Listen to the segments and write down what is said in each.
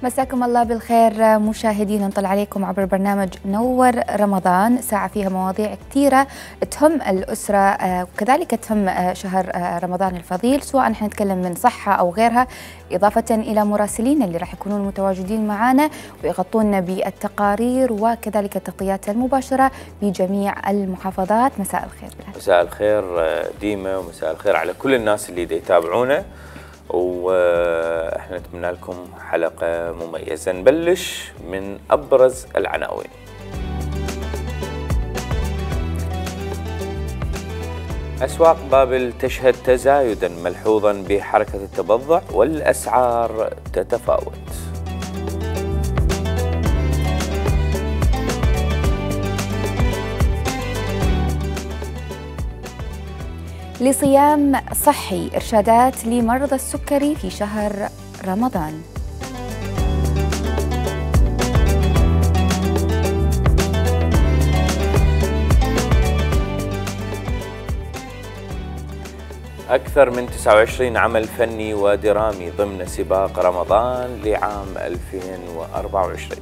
مساكم الله بالخير مشاهدينا، نطلع عليكم عبر برنامج نور رمضان، ساعة فيها مواضيع كثيرة تهم الأسرة وكذلك تهم شهر رمضان الفضيل، سواء حنتكلم من صحة أو غيرها، إضافة إلى مراسلين اللي راح يكونون متواجدين معنا ويغطون بالتقارير وكذلك التغطيات المباشرة بجميع المحافظات. مساء الخير بلال. مساء الخير ديما، ومساء الخير على كل الناس اللي يتابعونا، واحنا نتمنى لكم حلقة مميزة. نبلش من أبرز العناوين. أسواق بابل تشهد تزايدا ملحوظا بحركة التبضع والأسعار تتفاوت. لصيام صحي، إرشادات لمرضى السكري في شهر رمضان. أكثر من 29 عمل فني ودرامي ضمن سباق رمضان لعام 2024.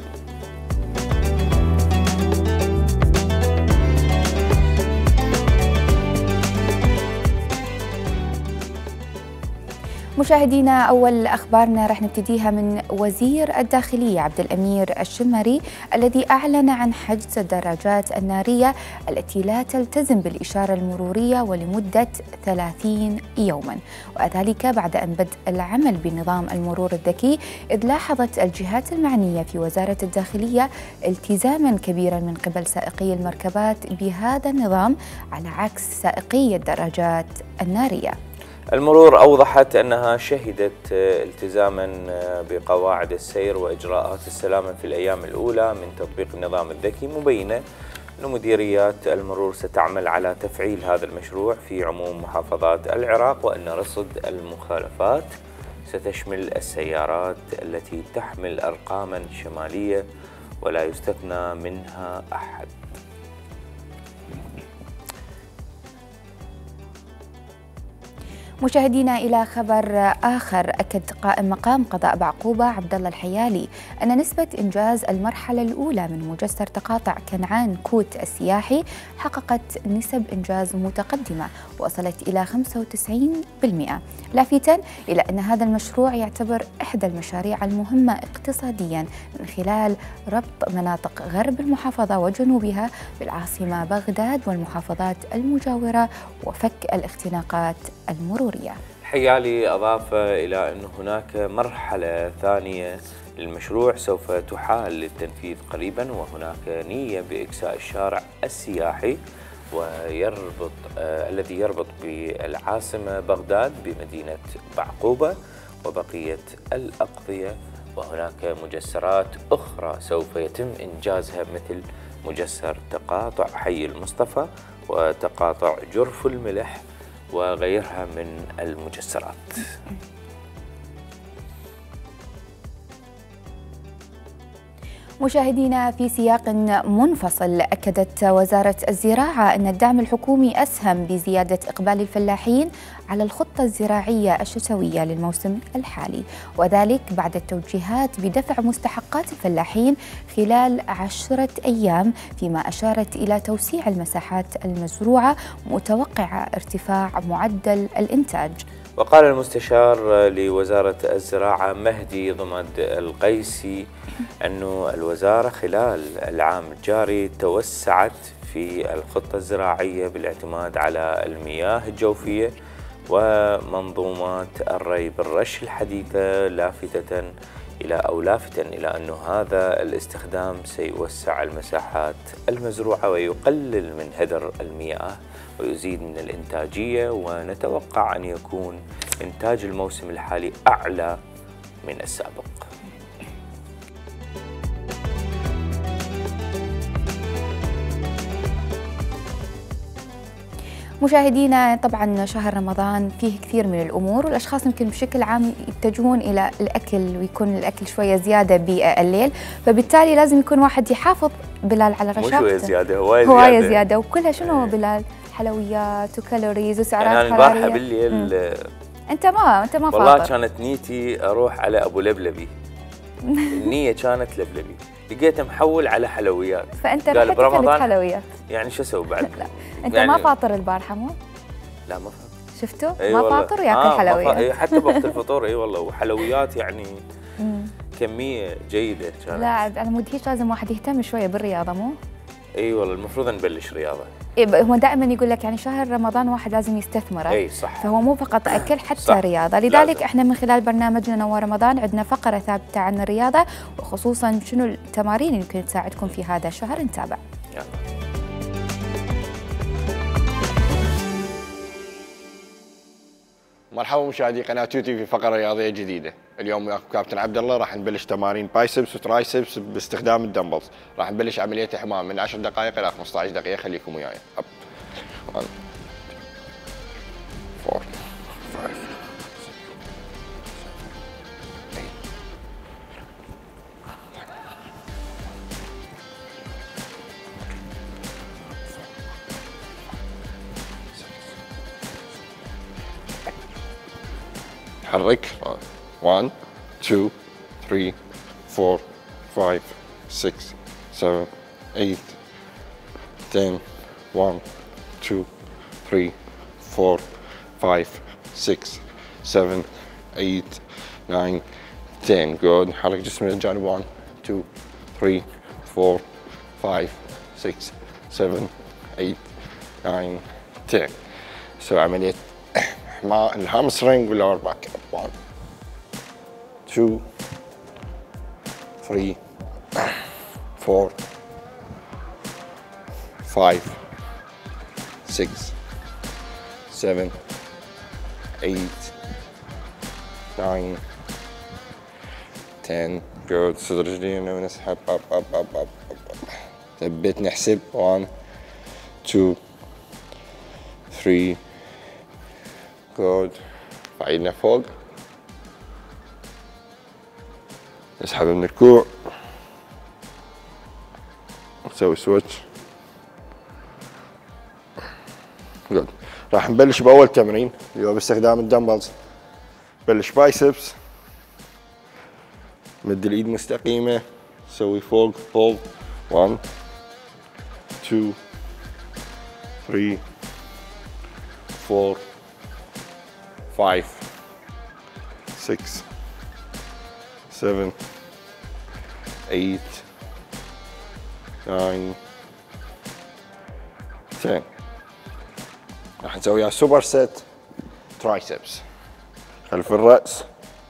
مشاهدينا، أول أخبارنا رح نبتديها من وزير الداخلية عبد الأمير الشمري الذي أعلن عن حجز الدراجات النارية التي لا تلتزم بالإشارة المرورية ولمدة 30 يوما، وذلك بعد أن بدأ العمل بنظام المرور الذكي، إذ لاحظت الجهات المعنية في وزارة الداخلية التزاما كبيرا من قبل سائقي المركبات بهذا النظام على عكس سائقي الدراجات النارية. المرور أوضحت أنها شهدت التزاما بقواعد السير وإجراءات السلامة في الأيام الأولى من تطبيق النظام الذكي، مبينة أن مديريات المرور ستعمل على تفعيل هذا المشروع في عموم محافظات العراق، وأن رصد المخالفات ستشمل السيارات التي تحمل أرقاما شمالية ولا يستثنى منها أحد. مشاهدينا، إلى خبر آخر، أكد قائم مقام قضاء بعقوبة عبد الله الحيالي أن نسبة إنجاز المرحلة الأولى من مجسر تقاطع كنعان كوت السياحي حققت نسب إنجاز متقدمة وصلت إلى 95%، لافتا إلى أن هذا المشروع يعتبر إحدى المشاريع المهمة اقتصاديا من خلال ربط مناطق غرب المحافظة وجنوبها بالعاصمة بغداد والمحافظات المجاورة وفك الاختناقات المرورية. الحيالي أضاف إلى أن هناك مرحلة ثانية للمشروع سوف تحال للتنفيذ قريبا، وهناك نية بإكساء الشارع السياحي الذي يربط بالعاصمة بغداد بمدينة بعقوبة وبقية الأقضية، وهناك مجسرات أخرى سوف يتم إنجازها مثل مجسر تقاطع حي المصطفى وتقاطع جرف الملح وغيرها من المجسرات. مشاهدينا، في سياق منفصل، أكدت وزارة الزراعة أن الدعم الحكومي أسهم بزيادة إقبال الفلاحين على الخطة الزراعية الشتوية للموسم الحالي، وذلك بعد التوجيهات بدفع مستحقات الفلاحين خلال 10 أيام، فيما أشارت إلى توسيع المساحات المزروعة متوقعة ارتفاع معدل الإنتاج. وقال المستشار لوزارة الزراعة مهدي ضمد القيسي أن الوزارة خلال العام الجاري توسعت في الخطة الزراعية بالاعتماد على المياه الجوفية ومنظومات الري بالرش الحديثة، لافتا إلى أن هذا الاستخدام سيوسع المساحات المزروعة ويقلل من هدر المياه ويزيد من الإنتاجية، ونتوقع أن يكون إنتاج الموسم الحالي أعلى من السابق. مشاهدينا، طبعا شهر رمضان فيه كثير من الأمور، والأشخاص يمكن بشكل عام يتجهون إلى الأكل ويكون الأكل شوية زيادة بالليل، فبالتالي لازم يكون واحد يحافظ بلال على رشاقته. مو شوية زيادة، هواية زيادة وكلها شنو بلال؟ حلويات وكالوريز وسعرات حرارية. أنا البارحة بالليل انت ما فاطر. والله كانت نيتي اروح على ابو لبلبي، النية كانت لبلبي، لقيته محول على حلويات. فانت رحت اكلت حلويات. يعني شو اسوي بعد؟ لا انت يعني ما فاطر البارحه مو؟ لا ما فاطر. شفتوا؟ أي ما فاطر ياكل حلويات. حتى بوقت الفطور اي والله، وحلويات يعني كمية جيدة كانت. لا على مود هيك لازم واحد يهتم شوية بالرياضة مو؟ اي والله المفروض نبلش رياضة. هو دائما يقول لك يعني شهر رمضان واحد لازم يستثمره. اي صح. فهو مو فقط اكل حتى صح. رياضة، لذلك لازم. احنا من خلال برنامجنا نوار رمضان عندنا فقرة ثابتة عن الرياضة، وخصوصا شنو التمارين اللي يمكن تساعدكم في هذا الشهر. نتابع. يلا. مرحبا مشاهدي قناة توتي في فقرة رياضية جديدة. اليوم وياكم كابتن عبد الله، راح نبلش تمارين بايسبس وترايسبس باستخدام الدمبلز. راح نبلش عملية حمام من 10 دقائق إلى 15 دقيقة، خليكم وياي. 1 4 5 حرك. 1 2 3 4 5 6 7 8 10 1 2 3 4 5 6 7 8 9 10. جود. حرك جسم للجانب. 1 2 3 4 5 6 7 8 9 10. سوي عملية الهامسترينج واللور باك. 1 2 3 4 5 6 7 8 9 10. جود. صدر رجلينا ونسحب. اب اب اب اب اب. ثبت. نحسب. 1 2 3. جود. فعيدنا فوق. نسحب من الكوع. نسوي سويتش. جود. راح نبلش بأول تمرين اللي هو باستخدام الدمبلز. نبلش بايسبس. مد الإيد مستقيمة. نسوي فوق هولد. 1 2 3 4 5 6 7 8 9 10. راح نسويها سوبر سيت ترايسبس. خلف الرأس.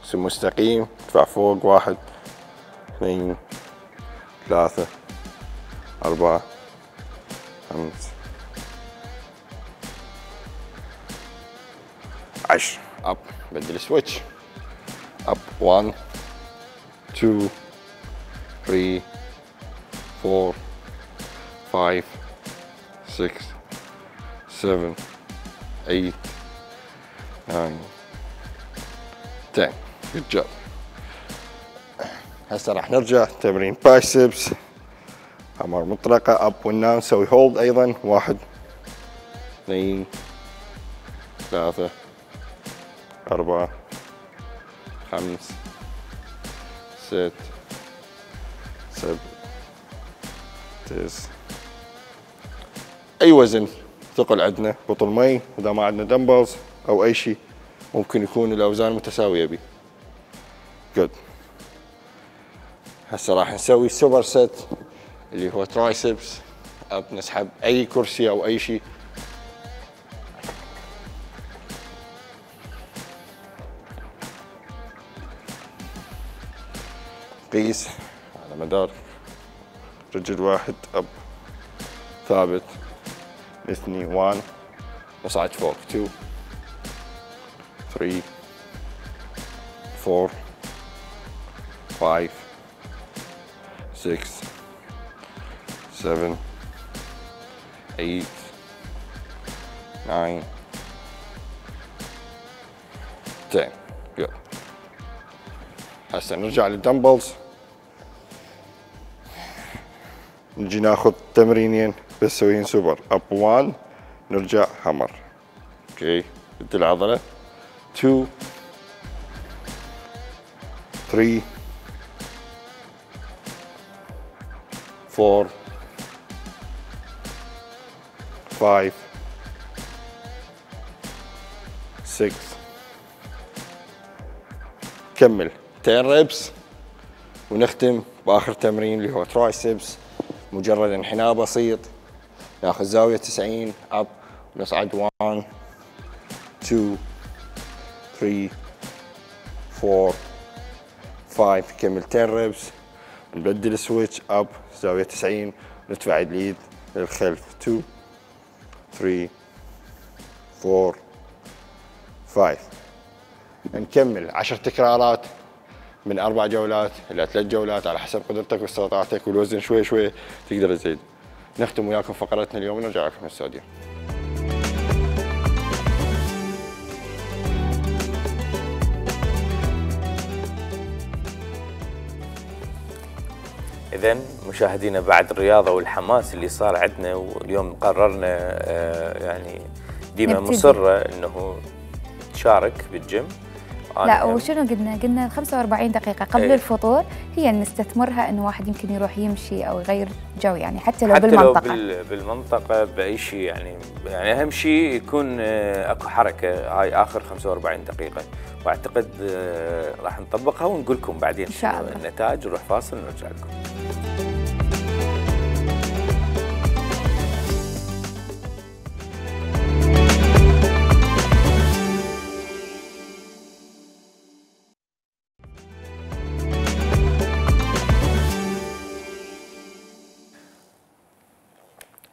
جسم مستقيم. ارفع فوق. 1 2 3 4 5 10. اب. بدل سويتش. اب. 1 2 3 4 5 6 7 8 9 10. جود جوب. هسه راح نرجع تمرين بايسبس. امر مطلقه. اب وناو. نسوي هولد ايضا. 1 2 3 4 5 6 7 9. أي وزن ثقل عندنا. بطل مي إذا ما عندنا دمبلز أو أي شيء ممكن يكون الأوزان متساوية بيه. جود. هسه راح نسوي سوبر سيت اللي هو ترايسبس. أب. نسحب أي كرسي أو أي شيء. قيس على مدار رجل واحد. اب. ثابت. اثنين. 1. نصعد فوق. 2 3 4 5 6 7 8 9 10. يلا. هسه نرجع للدمبلز. نجي ناخذ تمرينين بس نسويهن سوبر. اب 1. نرجع همر. اوكي. بدي العضله. 2 3 4 5 6. كمل 10 ريبس ونختم باخر تمرين اللي هو ترايسبس. مجرد انحناء بسيط، ناخذ زاويه 90 اب ونصعد 1 2 3 4 5. كمل 10 ريبس، نبدل سويتش اب زاويه 90 ندفع اليد للخلف 2 3 4 5. نكمل 10 تكرارات من 4 جولات إلى 3 جولات على حسب قدرتك واستطاعتك، والوزن شوي شوي تقدر تزيد. نختم وياكم فقرتنا اليوم ونرجع لكم الاستوديو. إذن مشاهدينا، بعد الرياضة والحماس اللي صار عندنا، واليوم قررنا يعني ديما مصرة إنه تشارك بالجيم. لا، وشنو قلنا 45 دقيقة قبل الفطور هي نستثمرها انه واحد يمكن يروح يمشي او يغير جو، يعني حتى لو بالمنطقة. لو بالمنطقة بأي شيء، يعني أهم شيء يكون اكو حركة. هاي آخر 45 دقيقة، واعتقد راح نطبقها ونقول لكم بعدين إن شاء الله النتائج. نروح فاصل ونرجع لكم.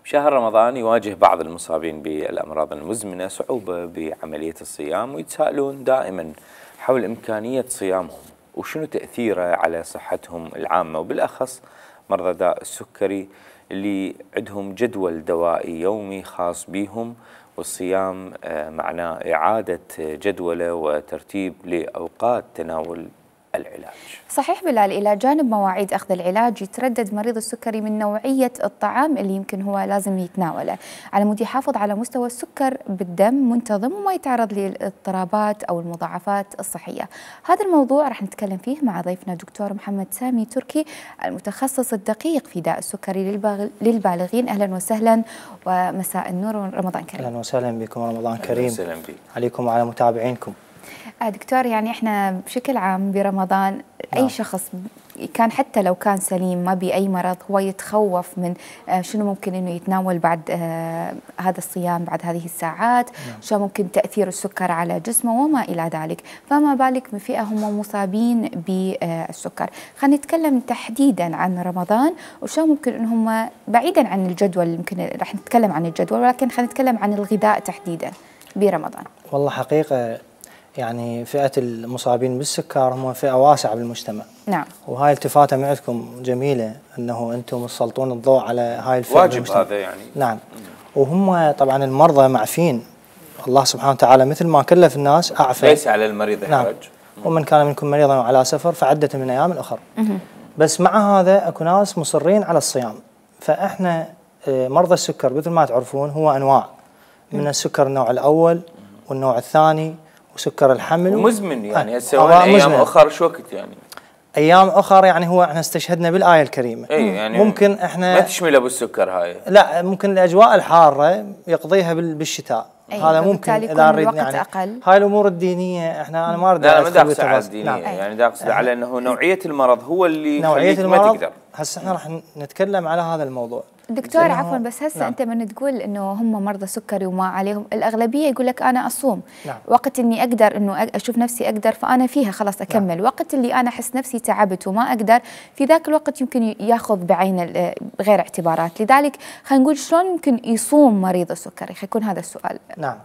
شهر رمضان يواجه بعض المصابين بالأمراض المزمنة صعوبة بعملية الصيام، ويتساءلون دائما حول إمكانية صيامهم وشنو تأثيره على صحتهم العامة، وبالأخص مرضى داء السكري اللي عندهم جدول دوائي يومي خاص بهم، والصيام معناه إعادة جدوله وترتيب لأوقات تناول العلاج. صحيح بلال، إلى جانب مواعيد أخذ العلاج يتردد مريض السكري من نوعية الطعام اللي يمكن هو لازم يتناوله على مود يحافظ على مستوى السكر بالدم منتظم وما يتعرض للاضطرابات أو المضاعفات الصحية. هذا الموضوع رح نتكلم فيه مع ضيفنا دكتور محمد سامي تركي، المتخصص الدقيق في داء السكري للبالغين. أهلا وسهلا ومساء النور ورمضان كريم. أهلا وسهلا بكم، رمضان كريم. أهلا وسهلا بك عليكم وعلى متابعينكم. دكتور، يعني احنا بشكل عام برمضان أي شخص كان حتى لو كان سليم ما بأي مرض هو يتخوف من شنو ممكن انه يتناول بعد هذا الصيام، بعد هذه الساعات، شو ممكن تأثير السكر على جسمه وما إلى ذلك، فما بالك بفئة هم مصابين بالسكر. خلينا نتكلم تحديدا عن رمضان وشو ممكن ان هم بعيدا عن الجدول، يمكن رح نتكلم عن الجدول ولكن خلينا نتكلم عن الغذاء تحديدا برمضان. والله حقيقة يعني فئة المصابين بالسكر هم فئة واسعة بالمجتمع. نعم. وهاي التفاتة معكم جميلة انه انتم تسلطون الضوء على هاي الفئة واجب بالمجتمع. هذا يعني. نعم. وهم طبعا المرضى معفين، الله سبحانه وتعالى مثل ما كلف الناس أعفى. ليس على المريض حرج. نعم. ومن كان منكم مريضا وعلى سفر فعدة من أيام أخرى. بس مع هذا اكو ناس مصرين على الصيام. فاحنا مرضى السكر مثل ما تعرفون هو انواع من السكر، النوع الاول والنوع الثاني وسكر الحمل ومزمن. يعني هسه ايام اخر شو وقت يعني ايام اخر يعني هو احنا استشهدنا بالايه الكريمه. يعني ممكن احنا ما تشمل ابو السكر هاي، لا ممكن الاجواء الحاره يقضيها بالشتاء. هذا ممكن اذا نريد يعني أقل. هاي الامور الدينيه احنا انا ما اريد لا ما داقصد على الدينيه. نعم. يعني داقصد على انه نوعيه المرض هو اللي نوعيه المرض ما تقدر. هسه احنا راح نتكلم على هذا الموضوع. دكتور عفوا، بس هسه انت من تقول انه هم مرضى سكري وما عليهم، الاغلبيه يقول لك انا اصوم. نعم. وقت اني اقدر انه اشوف نفسي اقدر فانا فيها خلاص اكمل. نعم. وقت اللي انا احس نفسي تعبت وما اقدر، في ذاك الوقت يمكن ياخذ بعين غير اعتبارات. لذلك خلينا نقول شلون يمكن يصوم مريض السكري، حيكون هذا السؤال. نعم.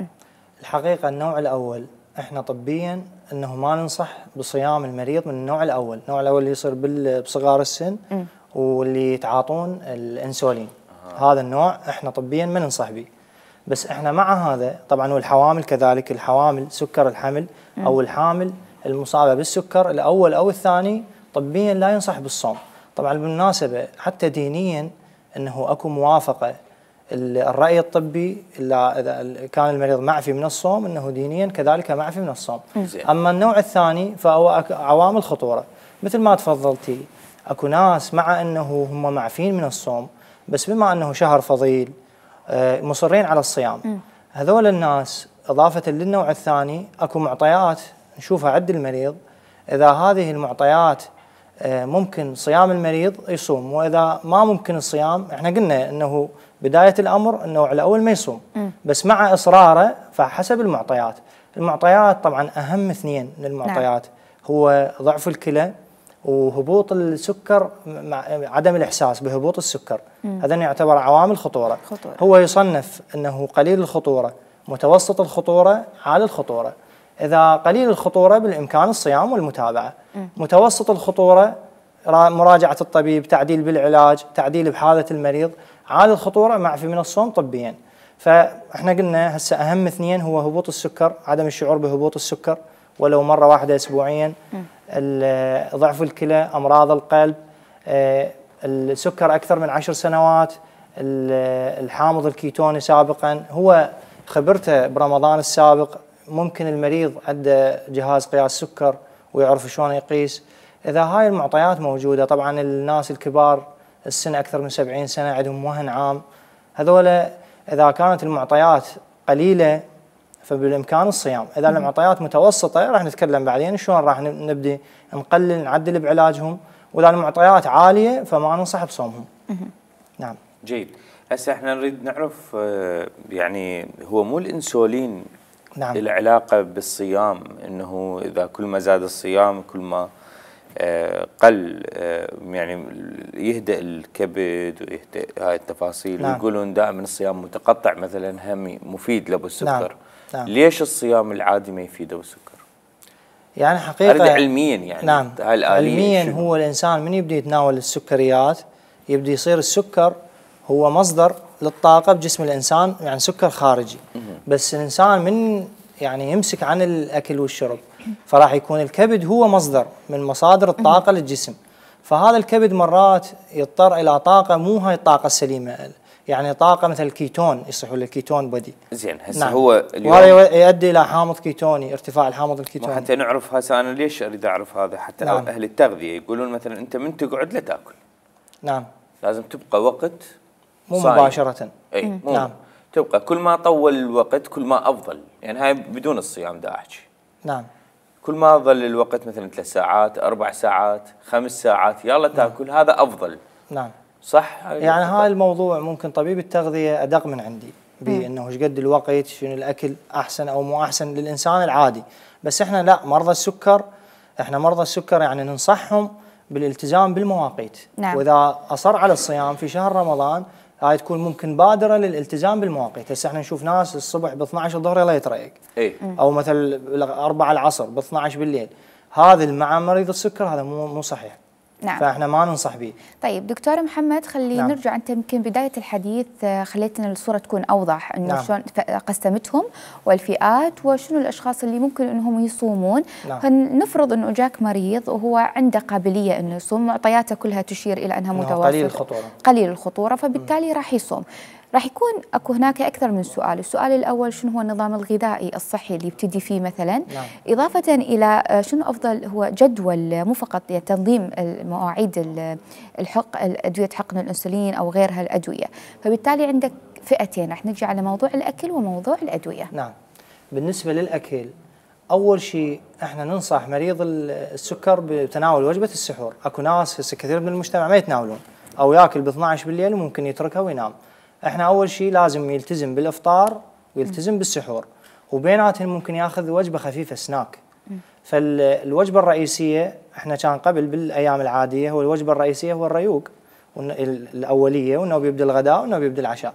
الحقيقه النوع الاول احنا طبيا انه ما ننصح بصيام المريض من النوع الاول، النوع الاول اللي يصير بصغار السن واللي يتعاطون الانسولين. هذا النوع احنا طبيا ما ننصح به. بس احنا مع هذا طبعا والحوامل كذلك، الحوامل سكر الحمل او الحامل المصابه بالسكر الاول او الثاني طبيا لا ينصح بالصوم. طبعا بالمناسبه حتى دينيا انه اكو موافقه الراي الطبي اذا كان المريض معفي من الصوم انه دينيا كذلك معفي من الصوم. اما النوع الثاني فهو عوامل خطوره مثل ما تفضلتي، اكو ناس مع انه هم معفين من الصوم، بس بما انه شهر فضيل مصرين على الصيام. هذول الناس اضافه للنوع الثاني اكو معطيات نشوفها عند المريض، اذا هذه المعطيات ممكن صيام المريض يصوم، واذا ما ممكن الصيام احنا قلنا انه بدايه الامر النوع الاول ما يصوم، بس مع اصراره فحسب المعطيات. المعطيات طبعا اهم اثنين من المعطيات هو ضعف الكلى وهبوط السكر مع عدم الاحساس بهبوط السكر. هذا يعتبر عوامل خطوره. هو يصنف انه قليل الخطوره، متوسط الخطوره، عالي الخطوره. اذا قليل الخطوره بالامكان الصيام والمتابعه. متوسط الخطوره مراجعه الطبيب، تعديل بالعلاج، تعديل بحاله المريض. عالي الخطوره معفي من الصوم طبيا. فاحنا قلنا هسه اهم اثنين هو هبوط السكر، عدم الشعور بهبوط السكر ولو مره واحده اسبوعيا، ضعف الكلى، امراض القلب، السكر اكثر من 10 سنوات، الحامض الكيتوني سابقا. هو خبرته برمضان السابق ممكن المريض عنده جهاز قياس سكر ويعرف شلون يقيس. اذا هاي المعطيات موجوده، طبعا الناس الكبار السن اكثر من 70 سنه عندهم وهن عام، هذول اذا كانت المعطيات قليله فبالامكان الصيام. اذا المعطيات متوسطه راح نتكلم بعدين شلون راح نبدي نقلل نعدل بعلاجهم، واذا المعطيات عاليه فما ننصح بصومهم. نعم. جيد. هسه احنا نريد نعرف يعني هو مو الانسولين نعم العلاقه بالصيام، انه اذا كل ما زاد الصيام كل ما قل يعني يهدأ الكبد ويهدأ هاي التفاصيل. نعم. ويقولون دائما الصيام متقطع مثلا هم مفيد لابو السكر. نعم. ليش الصيام العادي ما يفيد ابو السكر؟ يعني حقيقه علميا يعني نعم علميا شنو؟ هو الانسان من يبدي يتناول السكريات يبدي يصير السكر هو مصدر للطاقه بجسم الانسان، يعني سكر خارجي. بس الانسان من يعني يمسك عن الاكل والشرب فراح يكون الكبد هو مصدر من مصادر الطاقه للجسم. فهذا الكبد مرات يضطر الى طاقه مو هاي الطاقه السليمه، يعني طاقه مثل الكيتون، يصح ولا الكيتون بدي. زين هسه نعم. هو اليوم وهذا يؤدي الى حامض كيتوني، ارتفاع الحامض الكيتوني. حتى نعرف هسه انا ليش اريد اعرف هذا، حتى نعم. اهل التغذيه يقولون مثلا انت من تقعد لا تاكل. نعم. لازم تبقى وقت مو صايم. مباشره. اي مو نعم. تبقى كل ما طول الوقت كل ما افضل، يعني هاي بدون الصيام دا احكي. نعم. كل ما ظل الوقت مثلا 3 ساعات 4 ساعات 5 ساعات يلا تاكل. نعم. هذا افضل. نعم. صح. يعني هاي الموضوع ممكن طبيب التغذيه ادق من عندي بانه ايش قد الوقت، شنو الاكل احسن او مو احسن للانسان العادي. بس احنا لا، مرضى السكر، احنا مرضى السكر يعني ننصحهم بالالتزام بالمواقيت. نعم. واذا اصر على الصيام في شهر رمضان هاي تكون ممكن بادره للالتزام بالمواقيت. هسه احنا نشوف ناس الصبح ب 12 الظهر يلا يتريق. او مثل 4 العصر ب 12 بالليل. هذا مع مريض السكر هذا مو صحيح. نعم. فاحنا ما ننصح به. طيب دكتور محمد، خلي نعم. نرجع، انت يمكن بدايه الحديث خليتنا الصوره تكون اوضح انه نعم. شلون قسمتهم والفئات وشنو الاشخاص اللي ممكن انهم يصومون. نعم. نفرض انه جاك مريض وهو عنده قابليه انه يصوم، معطياته كلها تشير الى انها متوسطه قليل الخطوره، فبالتالي راح يصوم. راح يكون اكو هناك اكثر من سؤال. السؤال الاول شنو هو النظام الغذائي الصحي اللي يبتدي فيه مثلا. نعم. اضافه الى شنو افضل هو جدول، مو فقط تنظيم مواعيد ادويه حقن الانسولين او غيرها الادويه. فبالتالي عندك فئتين، راح نجي على موضوع الاكل وموضوع الادويه. نعم. بالنسبه للاكل، اول شيء احنا ننصح مريض السكر بتناول وجبه السحور. اكو ناس هسه كثير من المجتمع ما يتناولون او ياكل ب 12 بالليل وممكن يتركها وينام. احنا اول شيء لازم يلتزم بالافطار ويلتزم بالسحور، وبيناتهم ممكن ياخذ وجبه خفيفه سناك. فالوجبه الرئيسيه احنا كان قبل بالايام العاديه هو الوجبه الرئيسيه هو الريوق الاوليه، وانه بيبدا الغداء وانه بيبدا العشاء.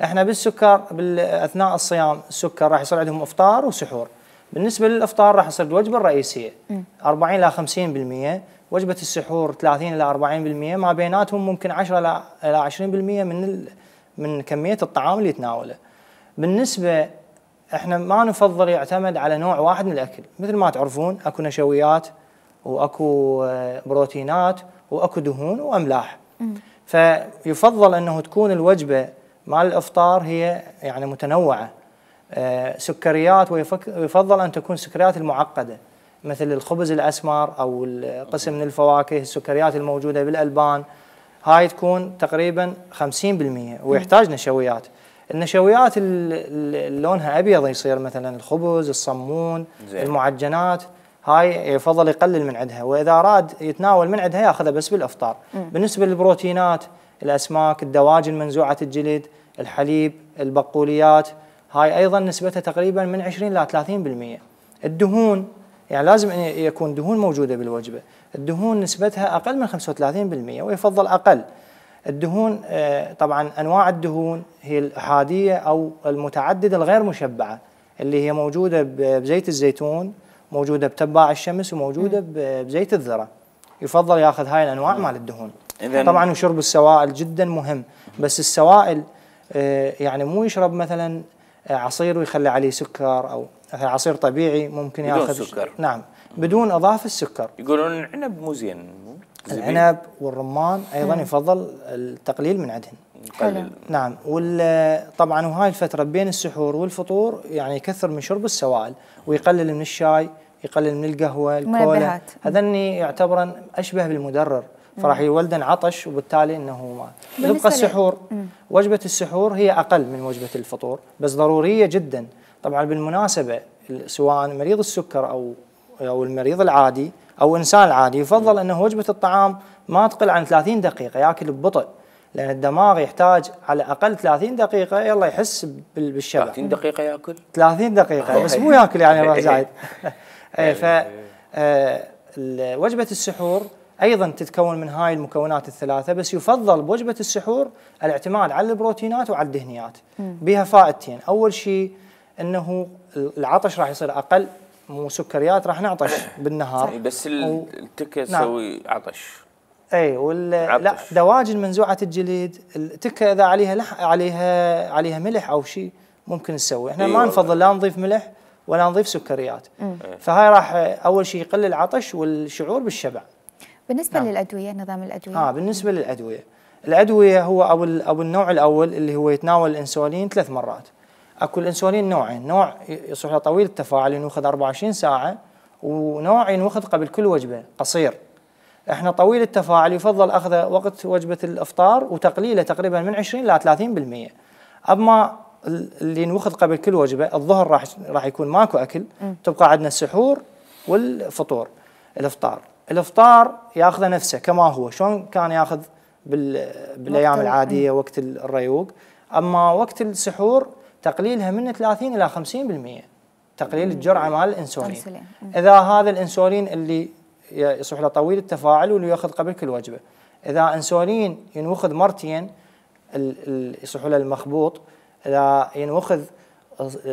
احنا بالسكر اثناء الصيام السكر راح يصير عندهم افطار وسحور. بالنسبه للافطار راح يصير الوجبه الرئيسيه 40 الى 50%، وجبه السحور 30 الى 40%، ما بيناتهم ممكن 10 الى 20% من كميه الطعام اللي يتناوله. بالنسبه احنا ما نفضل يعتمد على نوع واحد من الاكل، مثل ما تعرفون اكو نشويات واكو بروتينات واكو دهون واملاح. فيفضل انه تكون الوجبه مال الافطار هي يعني متنوعه. سكريات، ويفضل ان تكون السكريات المعقده، مثل الخبز الاسمر او القسم من الفواكه، السكريات الموجوده بالالبان، هاي تكون تقريبا 50% ويحتاج نشويات. النشويات اللي لونها ابيض يصير مثلا الخبز، الصمون، المعجنات، هاي يفضل يقلل من عندها، واذا اراد يتناول من عندها ياخذها بس بالافطار. بالنسبه للبروتينات، الاسماك، الدواجن منزوعه الجلد، الحليب، البقوليات، هاي ايضا نسبتها تقريبا من 20 ل 30%. الدهون يعني لازم أن يكون دهون موجوده بالوجبه، الدهون نسبتها اقل من 35% ويفضل اقل. الدهون طبعا انواع الدهون هي الاحاديه او المتعدده الغير مشبعه، اللي هي موجوده بزيت الزيتون، موجوده بتباع الشمس، وموجوده بزيت الذره. يفضل ياخذ هاي الانواع مال الدهون. طبعا وشرب السوائل جدا مهم، بس السوائل يعني مو يشرب مثلا عصير ويخلي عليه سكر، او عصير طبيعي ممكن ياخذ بدون سكر. نعم بدون اضافه السكر. يقولون العنب مو زين. العنب والرمان ايضا يفضل التقليل من عندهن. حلو. نعم. طبعا وهاي الفتره بين السحور والفطور يعني يكثر من شرب السوائل، ويقلل من الشاي، يقلل من القهوه، الكولا، هذني يعتبرن اشبه بالمدرر، فراح يولدن عطش، وبالتالي انه ما يبقى السحور. وجبه السحور هي اقل من وجبه الفطور بس ضروريه جدا. طبعا بالمناسبه سواء مريض السكر او المريض العادي او الانسان العادي، يفضل انه وجبه الطعام ما تقل عن 30 دقيقه، ياكل ببطء، لان الدماغ يحتاج على اقل 30 دقيقه يلا يحس بالشبع. 30 دقيقه ياكل؟ 30 دقيقه بس مو ياكل يعني راح زايد. ف وجبه السحور ايضا تتكون من هاي المكونات الثلاثه، بس يفضل بوجبه السحور الاعتماد على البروتينات وعلى الدهنيات. بها فائدتين، اول شيء انه العطش راح يصير اقل، مو سكريات راح نعطش بالنهار. بس التكه تسوي عطش. اي لا دواجن منزوعه الجلد، التكه اذا عليها ملح او شيء ممكن تسوي. احنا ما نفضل لا نضيف ملح ولا نضيف سكريات. فهاي راح اول شيء يقلل العطش والشعور بالشبع. بالنسبه للادويه، نظام الادويه، بالنسبه الادويه هو او النوع الاول اللي هو يتناول الانسولين 3 مرات. اكو الانسولين نوعين، نوع يصلح له طويل التفاعل ينوخذ 24 ساعه، ونوع ينوخذ قبل كل وجبه قصير. احنا طويل التفاعل يفضل اخذه وقت وجبه الافطار وتقليله تقريبا من 20 ل 30%. اما اللي ينوخذ قبل كل وجبه الظهر راح يكون ماكو اكل، تبقى عندنا السحور والفطور. الافطار ياخذه نفسه كما هو شلون كان ياخذ بالايام العاديه وقت الريوق. اما وقت السحور تقليلها من 30 الى 50%، تقليل الجرعه مال الانسولين. اذا هذا الانسولين اللي يصلح له طويل التفاعل واللي ياخذ قبل كل وجبه، اذا انسولين ينوخذ مرتين يصلح له المخبوط، اذا ينوخذ